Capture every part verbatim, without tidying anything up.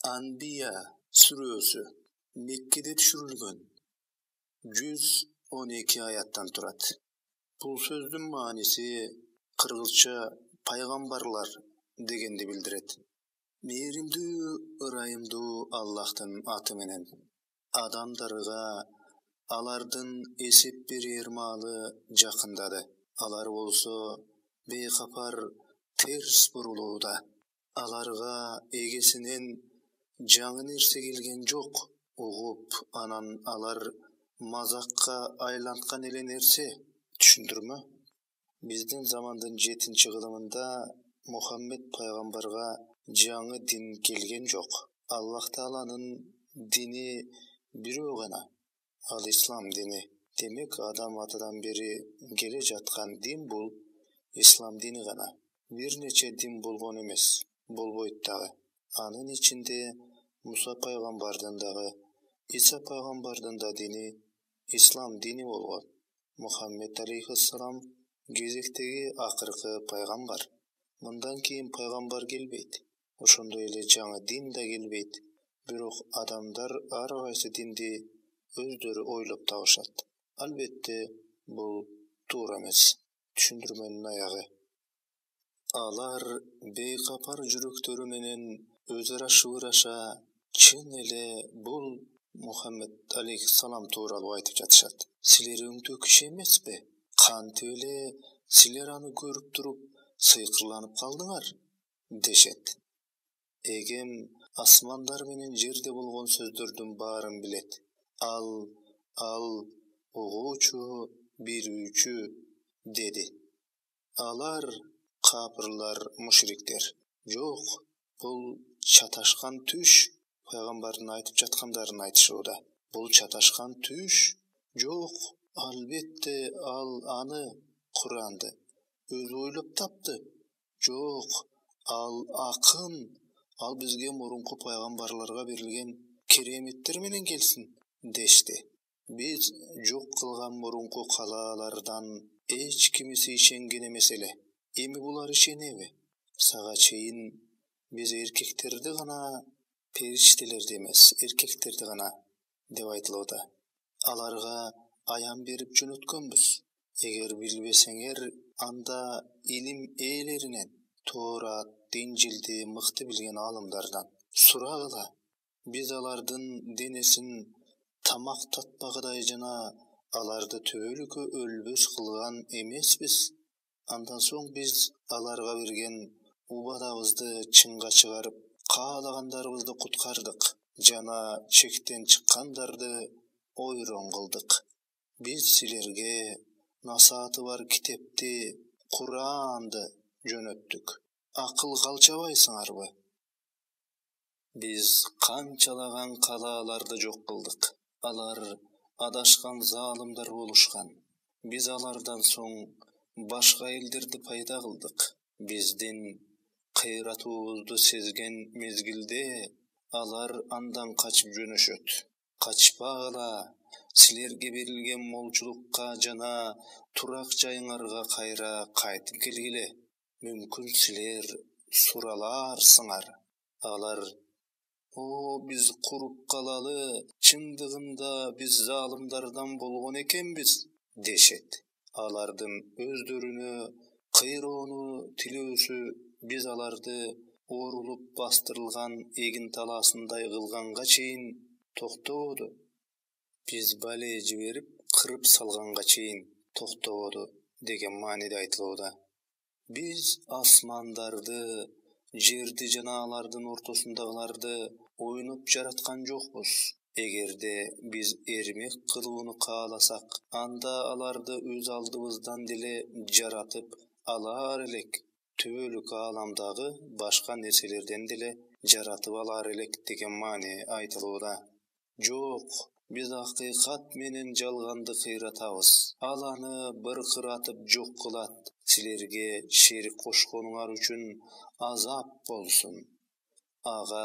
Анбия сүрөсү Меккеде түшүрүлгөн жүз он эки аяттан турат. Бул сөздүн мааниси кыргызча пайгамбарлар дегенди билдирет. Мээримдүү, ырайымдуу Аллахтын аты менен. Адамдарга алардын эсеп берер маалы жакындады. Алар болсо бейкапар терс бурулууда. Аларга эгесинен жаңы нерсе келген жок. Угуп, анан алар мазакка айланткан эле нерсе. Түшүндүрмө? Биздин замандын жетинчи кылымында Мухаммед пайгамбарга жаңы дин келген жок. Аллах Тааланын дини бирөө гана, ал ислам дини. Демек, адам атадан бери келе жаткан дин бул ислам дини гана. Бир нече дин болгон эмес, болбойт дагы. Анын ичинде Муса пайгамбардын дагы, Иса пайгамбардын да дини ислам дини болгон. Мухаммед алейхиссалам кезектеги акыркы пайгамбар. Мындан кийин пайгамбар келбейт. Ошондой эле жаңы дин да келбейт. Бирок адамдар ар кайсы динди өздөрү ойлоп табышат. Албетте, бул туура эмес. Түшүндүрмөнүн аягы. Алар бейкапар жүрөктөрү менен өз ара шыбыраша, чын эле бул Мухаммед алейхиссалам тууралуу айтып жатышат. Силер өңдөө киши эмеспи? Кантип эле силер аны көрүп туруп сыйкырланып калдыңар? Дешет. Эгем асмандар менен жерде болгон сөздөрдүн баарын билет. Ал, ал угуучу, билүүчү, деди. Алар капырлар, мушриктер. Жок, бул чаташкан түш. Пайгамбардын айтып жаткандарын айтышууда. Бул чаташкан түш. Жок, албетте ал аны, Куранды өзү ойлоп тапты. Жок, ал акын, ал бизге мурунку пайгамбарларга берилген кереметтер менен келсин, дешти. Биз жок кылган мурунку калаалардан эч кимиси ишенген эмес эле. Эми булар ишенеби? Сага чейин биз эркектерди гана, периштелерди эмес, эркектерди гана деп айтылууда. Аларга аян берип жөнөткөнбүз. Эгер билбесеңер, анда илим ээлеринен, Тоорат, Инжилди мыкты билген аалымдардан сурагыла. Биз алардын денесин тамак татпагыдай жана аларды түбөлүккө өлбөс кылган эмеспиз. Андан соң биз аларга берген убадабызды чынга чыгарып, каалагандарыбызды куткардык жана чектен чыккандарды ойрон кылдык. Биз силерге насааты бар китепти, Куранды жөнөттүк. Акылга алчабайсыңарбы? Биз канчалаган калааларды жок кылдык. Алар адашкан заалымдар болушкан. Биз алардан соң башка элдерди пайда кылдык. Биздин кыйратуубузду сезген мезгилде алар андан качып жөнөшөт. Качпагыла, силерге берилген молчулукка жана турак жайыңарга кайра кайтып келгиле. Мүмкүн силер сураларсыңар. Алар: "О, биз куруп калалы, чындыгында биз заалымдардан болгон экенбиз", дешет. Алардын өздөрүнө кыйроону тилөөсү биз аларды оорулуп бастырылган эгин талаасындай кылганга чейин токтободу. Биз бале жиберип, кырып салганга чейин токтободу деген мааниде айтылууда. Биз асмандарды, жерди жана алардын ортосундагыларды ойноп жараткан жокпуз. Эгерде биз эрмек кылууну кааласак, анда аларды өз алдыбыздан деле жаратып алар элек. Түбөлүк ааламдагы башка нерселерден деле жаратып алар элек деген маани айтылууда. Жок, биз акыйкат менен жалганды кыйратабыз. Ал аны быркыратып жок кылат. Силерге шерик кошконуңар үчүн азап болсун. Ага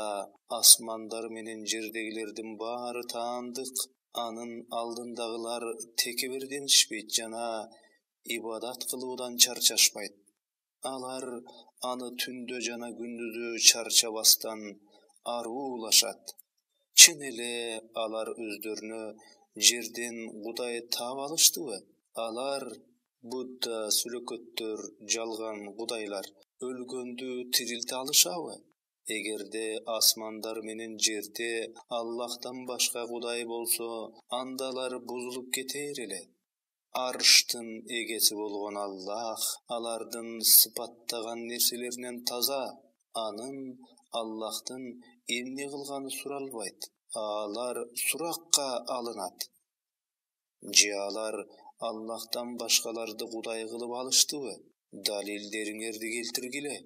асмандар менен жердегилердин баары таандык. Анын алдындагылар текеберденишпейт жана ибадат кылуудан чарчашпайт. Алар аны түндө жана күндүзү чарчабастан аруулашат. Чын эле алар өздөрүнө жерден Кудай таап алыштыбы? Алар Будда, сүлөкөттөр, жалган кудайлар өлгөндү тирилте алышабы? Эгерде асмандар менен жерде Аллахтан башка Кудай болсо, анда алар бузулуп кетер эле. Арштын эгеси болгон Аллах алардын сыпаттаган нерселеринен таза. Анын Аллахтын эмне кылганы суралбайт. Алар суракка алынат. Же алар Аллахтан башкаларды Кудай кылып алыштыбы? Далилдериңерди келтиргиле.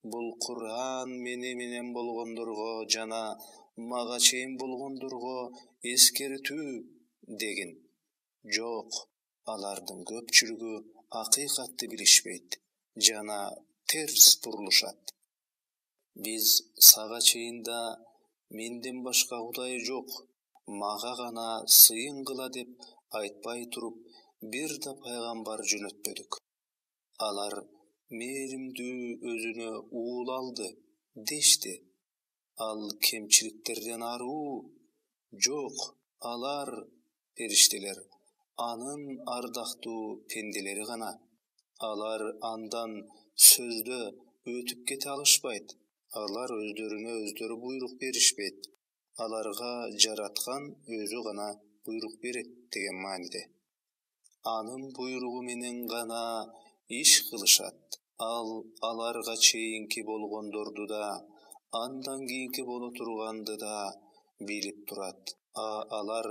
Бул Кур'ан мени менен болгондорго жана мага чейин болгондорго эскертүү дегин. Жок, алардын көпчүлүгү акыйкатты билишпейт жана терс бурулушат. Биз сага чейин да менден башка Кудай жок, мага гана сыйын кыла деп айтпай туруп, бир да пайгамбар жөнөтпөдүк. Алар мээримдүү өзүнө уул алды дешти. Ал кемчиликтерден аруу? Жок, алар периштелер, анын ардактуу пенделери гана. Алар андан сөздө өтүп кете алышпайт. Алар өздөрүнө өздөрү буйрук беришпейт. Аларга жараткан өзү гана буйрук берет деген мааниде. Анын буйругу менен гана иш кылышат. Ал аларга чейинки болгондорду да, андан кийинки боло турганды да билип турат. А алар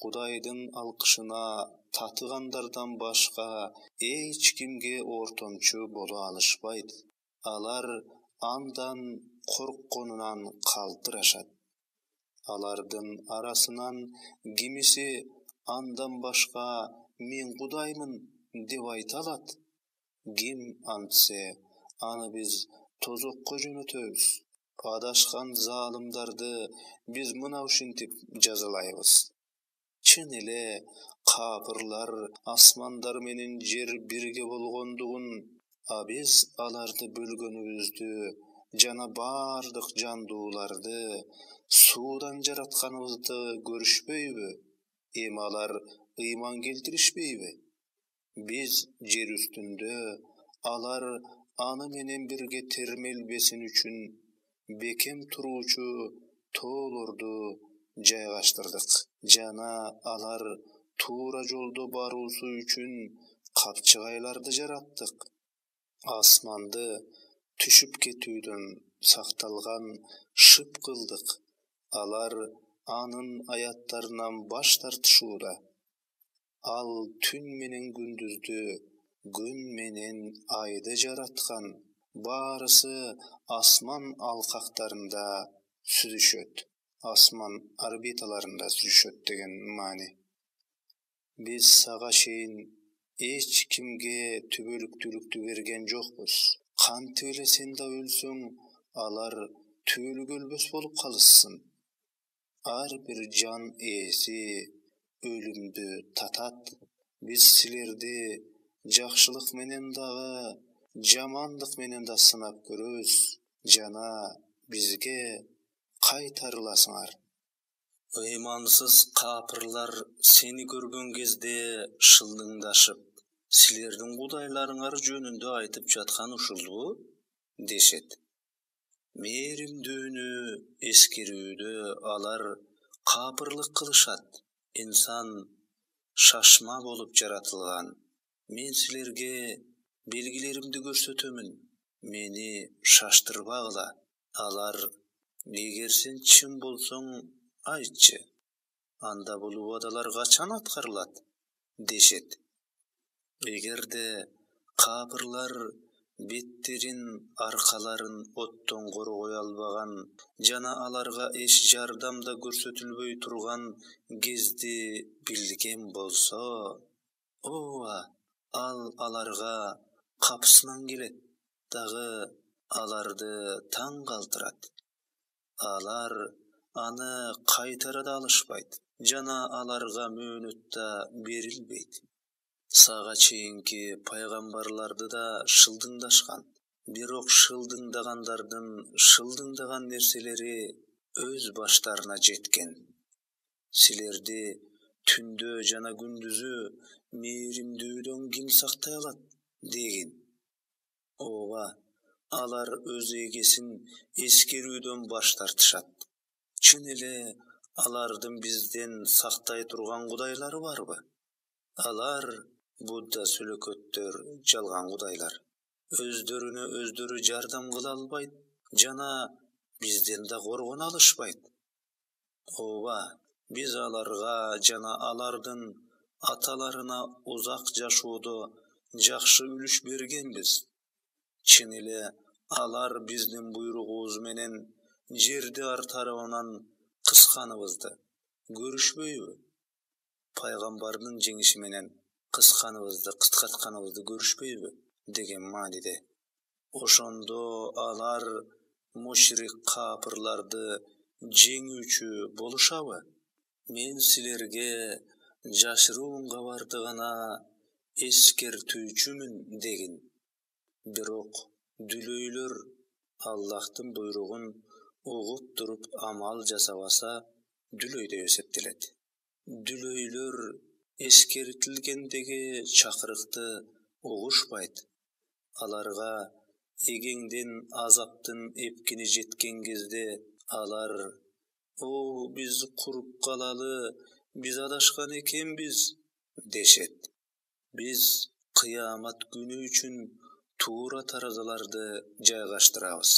Кудайдын алкышына татыгандардан башка эч кимге ортомчу боло алышпайт. Алар андан коркконунан калтырашат. Алардын арасынан кимиси андан башка мен Кудаймын деп айта алат. Ким антсе, аны биз тозокко жөнөтөбүз. Адашкан залымдарды биз мына ушинтип жазалайбыз. Чын эле капырлар асмандар менен жер бирге болгондугун, а биз аларды бөлгөнүбүздү жана бардык жандууларды суудан жаратканыбызды көрүшпөйбү? Эми алар ыйман келтиришпейби? Биз жер үстүндө алар аны менен бирге термелбесин үчүн бекем туруучу тоолорду жайгаштырдык жана алар туура жолдо баруусу үчүн капчыгайларды жараттык. Асманды түшүп кетүүдөн сакталган шып кылдык. Алар анын аяттарынан баш тартышууда. Ал түн менен күндүздү, күн менен айды жараткан. Баарысы асман алкактарында сүзүшөт. Асман орбиталарында сүзүшөт деген маани. Биз сага чейин эч кимге түбөлүктүүлүктү берген жокпуз. Кантип эле сен да өлсөң, алар түбөлүк өлбөс болуп калышсын. Ар бир жан ээси өлүмдү татат. Биз силерди жакшылык менен дагы, жамандык менен да сынап көрөбүз жана бизге кайтарыласыңар. Ыймансыз капырлар сени көргөн кезде шылдыңдашып, силердин кудайларыңар жөнүндө айтып жаткан ушулбу дешет. Мээримдүүнү эскерүүдө алар капырлык кылышат. Инсан шашма болуп жаратылган. Мен силерге белгилеримди көрсөтөмүн. Мени шаштырбагыла. Алар: эгер сен чын болсоң, айтчы. Анда бул убадалар качан аткарылат? Дешет. Эгерде капырлар беттерин, аркаларын оттон коргой албаган жана аларга эч жардам да көрсөтүлбөй турган кезди билген болсо, ооба, ал аларга капысынан келет, дагы аларды таң калтырат. Алар аны кайтара да алышпайт жана аларга мөөнөт да берилбейт. Сага чейинки пайгамбарларды да шылдыңдашкан. Бирок шылдыңдагандардын шылдыңдаган нерселери өз баштарына жеткен. Силерди түндө жана күндүзү мээримдүүдөн ким сактай алат дегин. Ооба, алар өз эгесин эскерүүдөн баш тартышат. Чын эле алардын бизден сактай турган кудайлары барбы? Алар Будда сүлөкөттөр жалган кудайлар. Өздөрүнө өздөрү жардам кыла албайт жана бизден да коргоно алышпайт. Ооба, биз аларга жана алардын аталарына узак жашоодо жакшы үлүш бергенбиз. Чын эле алар биздин буйругубуз менен жерди ар тарабынан кысканыбызды көрүшпөйбү? Пайгамбардын жеңиши менен кысканыбызды, кыскартканыбызды көрүшпөйбү деген мааниде. Ошондо алар мушрик капырларды жеңүүчү болушабы? Мен силерге жашыруун кабарды гана эскертүүчүмүн дегин. Бирок дүлөйлөр Аллахтын буйругун угуп туруп амал жасабаса, дүлөй деп эсептелет. Дүлөйлөр эскертилгендеги чакырыкты угушпайт. Аларга эгеңден азаптын эпкини жеткен кезде алар: "О, биз куруп калалы, биз адашкан экенбиз" дешет. Биз кыямат күнү үчүн туура таразаларды жайгаштырабыз.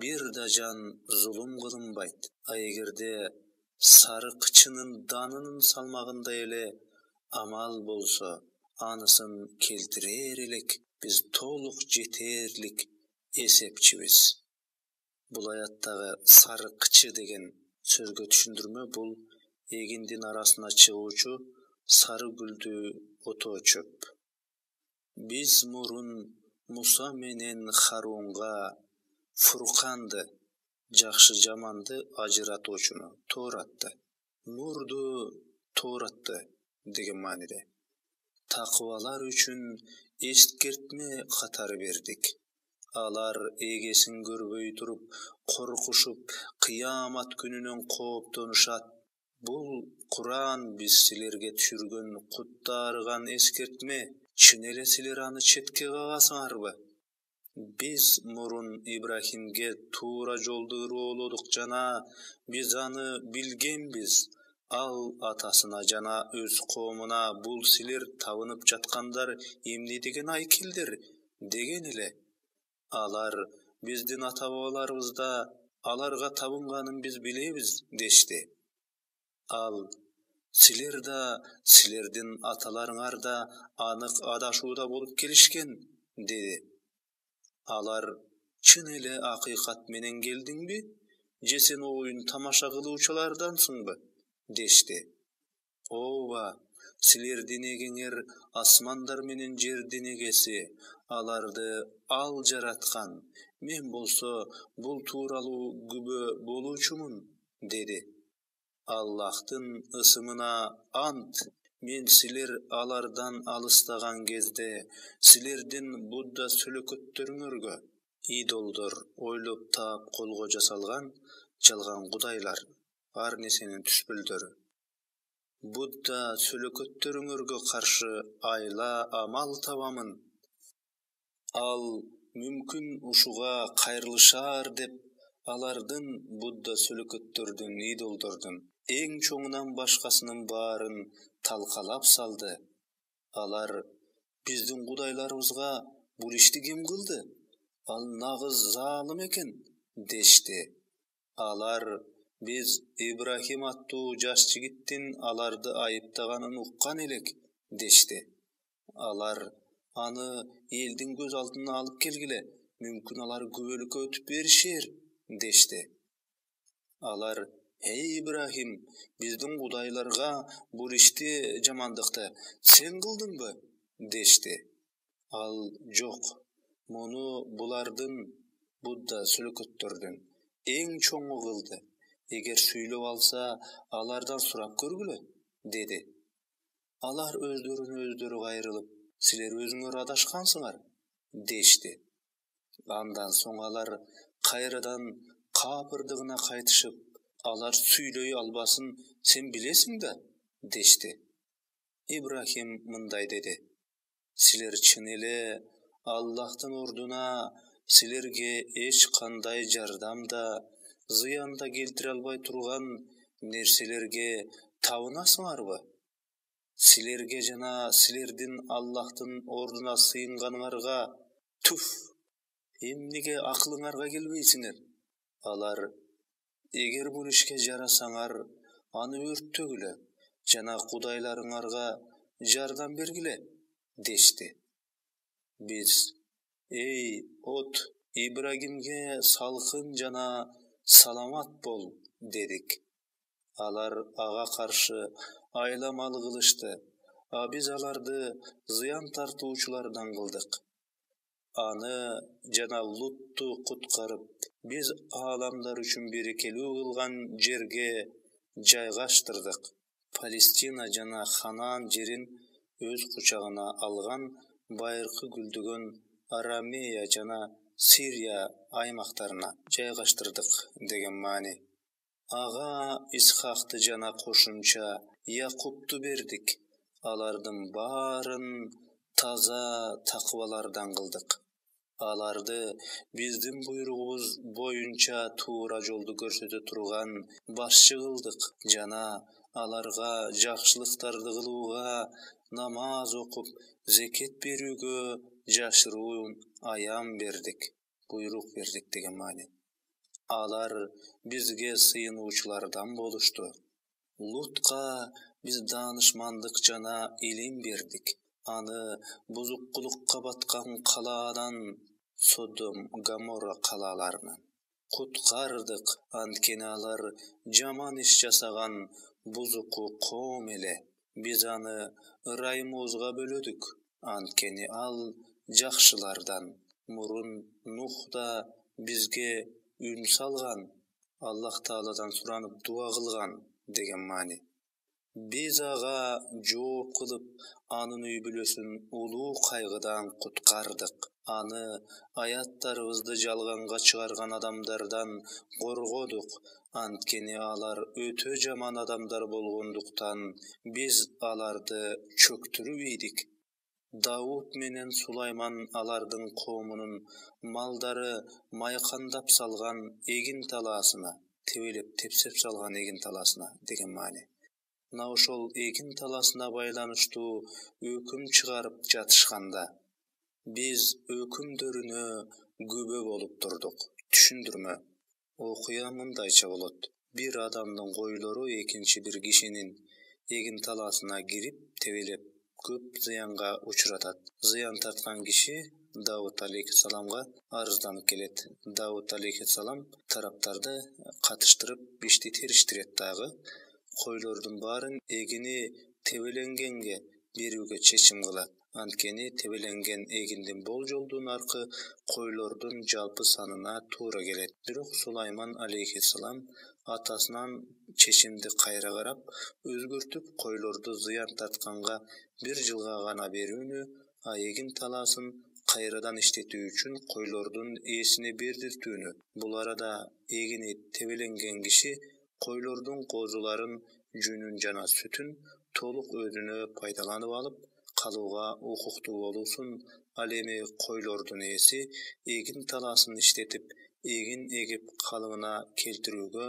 Бир да жан зулум кылынбайт. А эгерде сарыкчынын данынын салмагындай эле амал болсо, анысын келтирер элек биз толук жетерлик эсепчибиз. Бул аяттагы сарыкчы деген сөзгө түшүндүрмө бул эгиндин арасына чыгуучу сары гүлдүү отоо чөп. Биз мурун Муса менен Харунга Фурканды, жакшы жаманды ажыратуучуну, Тооратты, нурду, Тооратты деген мааниде такыбалар үчүн эскертме катары бердик. Алар эгесин көрбөй туруп, коркушуп, кыямат күнүнөн кооптонушат. Бул Куран биз силерге түшүргөн кутта арыган эскертме. Чын эле силер аны четке кагасыңарбы? Биз мурун Ибрахимге туура жолду ырыолодук жана биз аны билгенбиз. Ал атасына жана өз коомуна: "Бул силер табынып жаткандар эмне деген айкелдер?" деген эле. Алар: "Биздин ата-бабаларыбыз да аларга табынганын биз билебиз" дешти. Ал: "Силер да, силердин аталарыңар да анык адашууда болуп келишкен" деди. Алар: "Чын эле акыйкат менен келдиңби? Же сен оюн тамаша кылуучулардансыңбы?" дешти. Ооба, силердин эгеңер асмандар менен жердин эгеси, аларды ал жараткан. Мен болсо бул тууралуу күбө болуучумун деди. Аллахтын ысымына ант, мен силер алардан алыстаган кезде силердин Будда сүлөкөттөрүңөргө идолдор, ойлоп таап колго жасалган жалган кудайлар, ар нерсенин түспөлдөрү. Будда сүлөкөттөрүңөргө каршы айла амал табамын. Ал мүмкүн ушуга кайрылышаар деп алардын, Будда сүлөкөттөрдүн, идолдордун эң чоңунан башкасынын баарын талкалап салды. Алар: "Биздин кудайларыбызга бул ишти ким кылды? Ал нагыз заалым экен" дешти. Алар: "Биз Ибрахим аттуу жаш жигиттин аларды айыптаганын уккан элек" дешти. Алар: "Аны элдин көз алдына алып келгиле, мүмкүн алар күбөлүккө өтүп беришер" дешти. Алар: "Эй Ибрахим, биздин кудайларга бул ишти, жамандыкты сен кылдыңбы" дешти. Ал: "Жок, муну булардын, Будда сүлөкөттөрдүн эң чоңу кылды. Эгер сүйлөп алса, алардан сурап көргүлө" деди. Алар өздөрүнө өздөрү кайрылып: "Силер өзүңөр адашкансыңар" дешти. Андан соң алар кайрадан капырдыгына кайтышып, алар сүйлөй албасын сен билесиң да, дешти. Ибрахим мындай деди: силер чын эле Аллахтын ордуна силерге эч кандай жардам да, зыян да келтире албай турган нерселерге табынасыңарбы? Силерге жана силердин Аллахтын ордуна сыйынганыңарга туф! Эмнеге акылыңарга келбейсиңер? Алар: эгер бул ишке жарасаңар, аны өрттөгүлө жана кудайларыңарга жардам бергиле, дешти. Биз: эй от, Ибрагимге салкын жана саламат бол, дедик. Алар ага каршы айламал кылышты, а биз аларды зыян тартуучулардан кылдык. Аны жана Лутту куткарып, биз ааламдар үчүн берекелүү кылган жерге жайгаштырдык. Палестина жана Ханаан жерин өз кучагына алган байыркы гүлдөгөн Арамея жана Сирия аймактарына жайгаштырдык деген маани. Ага Исхакты жана кошумча Якубту бердик. Алардын баарын таза такыбалардан кылдык. Аларды биздин буйругубуз боюнча туура жолду көрсөтө турган башчы кылдык жана аларга жакшылыктарды кылууга, намаз окуп, зекет берүүгө жашыруун аян бердик, буйрук бердик деген маани. Алар бизге сыйынуучулардан болушту. Лутка биз даанышмандык жана илим бердик. Аны бузукулукка баткан калаадан, Содом, Гоморра калааларынан куткардык, анткени алар жаман иш жасаган бузуку коом эле. Биз аны ырайымыбызга бөлөдүк, анткени ал жакшылардан. Мурун Нух да бизге үн салган, Аллах Тааладан суранып дуа кылган деген маани. Биз ага жооп кылып, анын үй бүлөсүн улуу кайгыдан куткардык. Аны аяттарыбызды жалганга чыгарган адамдардан коргодук, анткени алар өтө жаман адамдар болгондуктан биз аларды чөктүрүп ийдик. Давуд менен Сулайман алардын коомунун малдары майкандап салган эгин талаасына, тебелеп тепсеп салган эгин талаасына деген маани. Мына ошол эгин талаасына байланыштуу өкүм чыгарып жатышканда, биз өкүмдөрүнө күбө болуп турдук. Түшүндүрмө. Окуя мындайча болот. Бир адамдын койлору экинчи бир кишинин эгин талаасына кирип, тебелеп көп зыянга учуратат. Зыян тарткан киши Давуд алейхиссаламга арызданып келет. Давуд алейхиссалам тараптарды катыштырып ишти териштирет дагы. Койлордун баарын эгини тебеленгенге берүүгө чечим кылат. Анткени тебеленген эгиндин болжолдуу наркы койлордун жалпы санына туура келет. Бирок Сулайман алейхиссалам атасынан чечимди кайра карап, өзгөртүп койлорду зыян тартканга бир жылга гана берүүнү, а эгин талаасын кайрадан иштетүү үчүн койлордун ээсине бердиртүүнү. Бул арада эгини тебеленген киши койлордун козуларын, жүнүн жана сүтүн толук өзүнө пайдаланып алып калууга укуктуу болуусун. Ал эми койлордун ээси эгин талаасын иштетип, эгин эгип калыбына келтирүүгө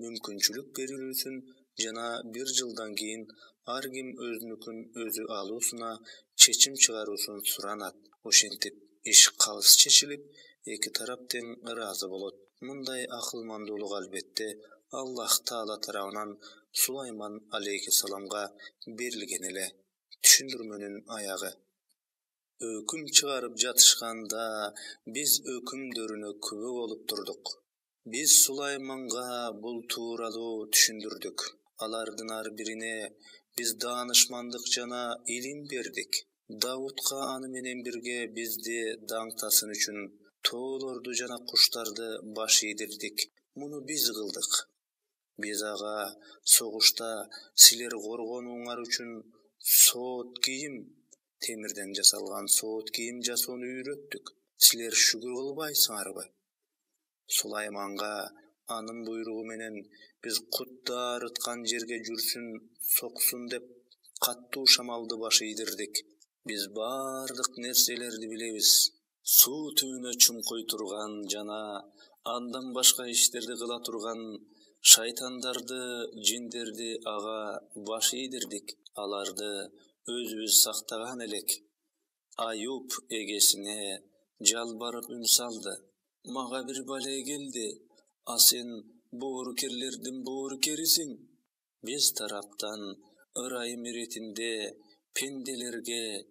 мүмкүнчүлүк берилүүсүн жана бир жылдан кийин ар ким өзүнүкүн өзү алуусуна чечим чыгаруусун суранат. Ошентип иш калыс чечилип, эки тарап тең ыраазы болот. Мындай акылмандуулук албетте Аллах Таала тарабынан Сулайман алейхиссаламга берилген эле. Түшүндүрмөнүн аягы. Өкүм чыгарып жатышканда биз өкүмдөрүнө күбө болуп турдук. Биз Сулайманга бул тууралуу түшүндүрдүк. Алардын ар бирине биз даанышмандык жана илим бердик. Давудка аны менен бирге бизди даңтасын үчүн тоолорду жана куштарды баш ийдирдик. Муну биз кылдык. Биз ага согушта силер коргонууңар үчүн соот кийим, темирден жасалган соот кийим жасоону үйрөттүк. Силер шүгүр кылбайсыңарбы? Сулайманга Анын буйругу менен биз кутта арыткан жерге жүрсүн, соксун деп каттуу шамалды баш ийдирдик. Биз бардык нерселерди билебиз. Суу түбүнө чумкуй турган жана андан башка иштерди кыла турган шайтандарды, жиндерди ага баш ийдирдик. Аларды өзүбүз сактаган элек. Аюп эгесине жалбарып үн салды. Мага бир бале келди, а сен боорукерлердин боорукерисиң. Биз тараптан ырайым иретинде пенделерге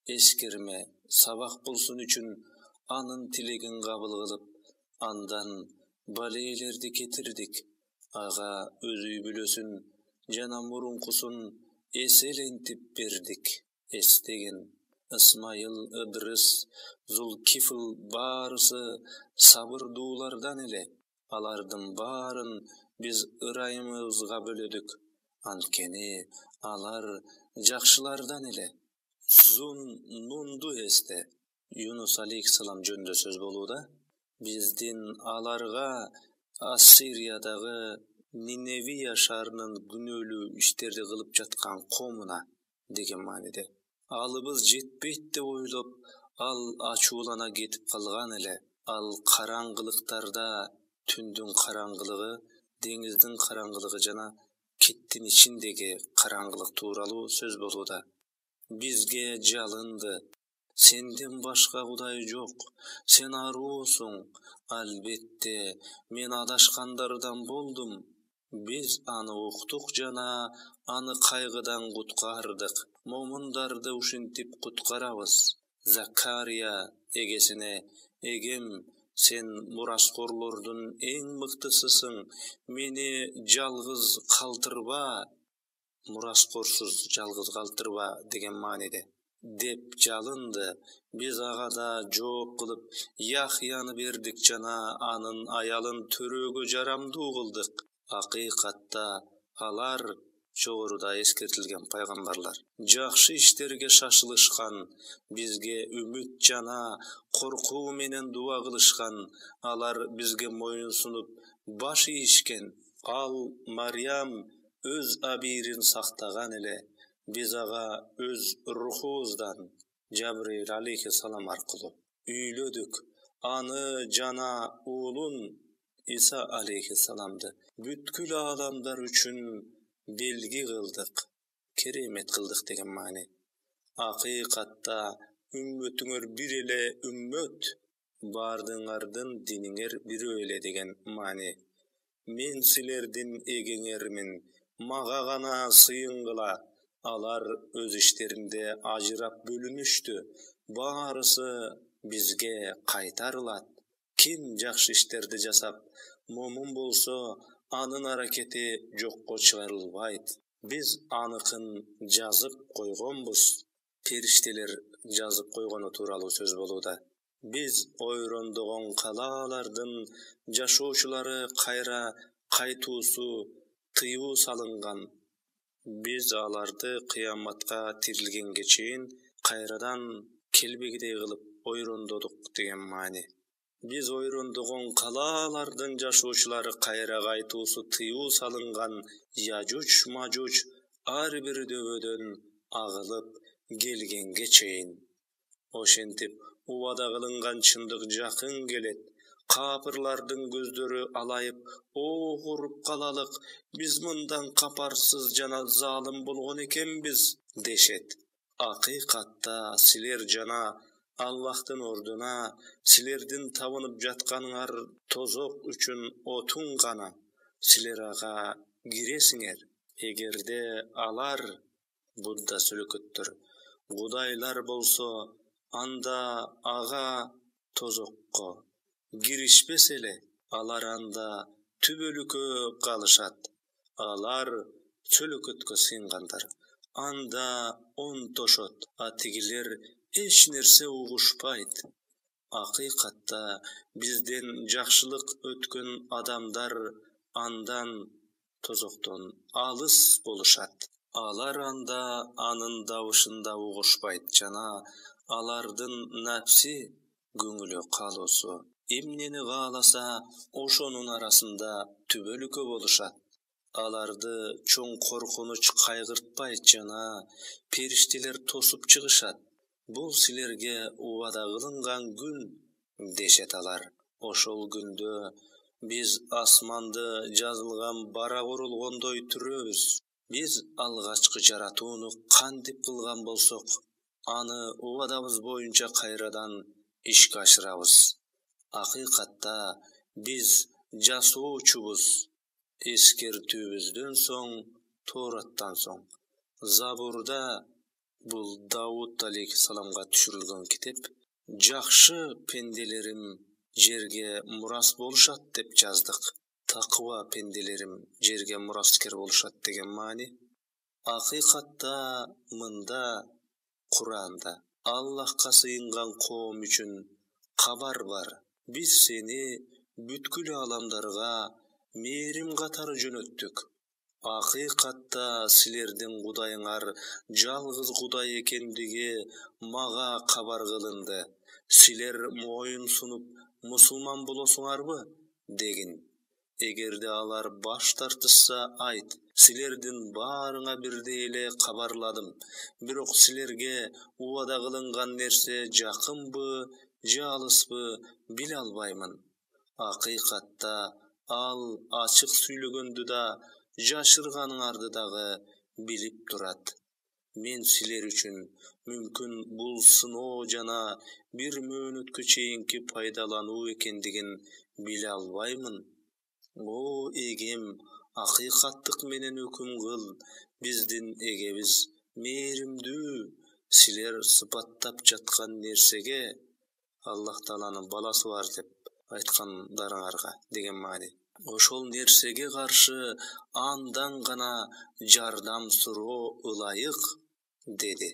эскерме, сабак болсун үчүн анын тилегин кабыл кылып, андан балээлерди кетирдик. Ага өз үй бүлөсүн жана мурункусун эселентип бердик. Эстеген Исмайыл, Ыдрыс, Зулкифл баарысы сабырдуулардан эле. Алардын баарын биз ырайымыбызга бөлөдүк. Анткени алар жакшылардан эле. Зун Нунду эсте. Юнус алейхиссалам жөнүндө сөз болууда. Биздин аларга Ассириядагы Ниневия шаарынын күнөөлүү иштерди кылып жаткан коомуна деген мааниде. Алыбыз жетпейт деп ойлоп, ал ачуулана кетип калган эле. Ал караңгылыктарда түндүн караңгылыгы, деңиздин караңгылыгы жана киттин ичиндеги караңгылык тууралуу сөз болууда. Бизге жалынды. Сенден башка Кудай жок. Сен аруусуң. Албетте, мен адашкандардан болдум. Биз аны уктук жана аны кайгыдан куткардык. Момундарды ушинтип куткарабыз. Закария эгесине: эгем, сен мураскорлордун эң мыктысысың. Мени жалгыз калтырба, мураскорсуз жалгыз калтырба деген мааниде деп жалынды. Биз ага да жооп кылып Яхьяны бердик жана анын аялын төрөөгө жарамдуу кылдык. Акыйкатта алар жогоруда эскертилген пайгамбарлар жакшы иштерге шашылышкан, бизге үмүт жана коркуу менен дуа кылышкан. Алар бизге моюн сунуп баш ийишкен. Ал Марьям өз абийирин сактаган эле. Биз ага өз рухубуздан Жабрейил алейхиссалам аркылуу үйлөдүк. Аны жана уулун Иса алейхиссаламды бүткүл адамдар үчүн белги кылдык, керемет кылдык деген маани. Акыйкатта үммөтүңөр бир эле үммөт, баардыгыңардын диниңер бирөө эле деген маани. Мен силердин эгеңермин, мага гана сыйынгыла. Алар өз иштеринде ажырап бөлүнүштү. Баарысы бизге кайтарылат. Ким жакшы иштерди жасап, момун болсо, анын аракети жокко чыгарылбайт. Биз аныкын жазып койгонбуз. Периштелер жазып койгону тууралуу сөз болууда. Биз ойрондогон калаалардын жашоочулары кайра кайтуусу тыюу салынган. Биз аларды кыяматка тирилгенге чейин кайрадан келбегидей кылып ойрондодук деген маани. Биз ойрондогон калаалардын жашоочулары кайра кайтуусу тыюу салынган Яжуч Мажуч ар бир дөбөдөн агылып келгенге чейин. Ошентип убада кылынган чындык жакын келет. Капырлардын көздөрү алайып, огуруп калалык, биз мындан капарсыз жана залым болгон экенбиз дешет. Акыйкатта силер жана Аллахтын ордуна силердин табынып жатканыңар тозок үчүн отун гана. Силер ага киресиңер. Эгерде алар, Будда сөлөкөттөр, кудайлар болсо, анда ага тозокко киришпес эле. Алар анда түбөлүккө калышат. Алар сөлөкөткө сыйынгандар. Анда онтошот, а тигилер эч нерсе угушпайт. Акыйкатта бизден жакшылык өткөн адамдар андан тозоктон алыс болушат. Алар анда анын добушун да угушпайт жана алардын напси көңүлү калуусу эмнени кааласа ошонун арасында түбөлүккө болушат. Аларды чоң коркунуч кайгыртпайт жана периштелер тосуп чыгышат. Бул силерге убада кылынган күн, дешет алар. Ошол күндө биз асманды жазылган бара курулгондой түрөбүз. Биз алгачкы жаратууну кантип кылган болсок, аны убадабыз боюнча кайрадан ишке ашырабыз. Акыйкатта биз жасоочубуз. Эскертүүбүздөн соң, Тораттан соң. Забурда, бул Давуд алейхиссаламга түшүрүлгөн китеп, жакшы пенделерим жерге мурас болушат деп жаздык. Такыба пенделерим жерге мураскер болушат деген маани. Акыйкатта мында Куранда Аллахка сыйынган коом үчүн кабар бар. Биз сени бүткүл ааламдарга мээрим катары жөнөттүк. Акыйкатта силердин Кудайыңар жалгыз Кудай экендиги мага кабар кылынды. Силер моюн сунуп мусулман болосуңарбы? Дегин. Эгерде алар баш тартышса, айт, силердин баарыңа бирдей эле кабарладым. Бирок силерге убада кылынган нерсе жакынбы, же алыспы, биле албаймын. Акыйкатта ал ачык сүйлөгөндү да, жашырганыңарды дагы билип турат. Мен силер үчүн мүмкүн бул сыноо жана бир мөөнөткө чейинки пайдалануу экендигин биле албаймын. О эгем, акыйкаттык менен өкүм кыл, биздин эгебиз мээримдүү. Силер сыпаттап жаткан нерсеге Аллах Тааланын баласы бар деп айткандарыңарга деген маани. Ошол нерсеге каршы андан гана жардам суроо ылайык, деди.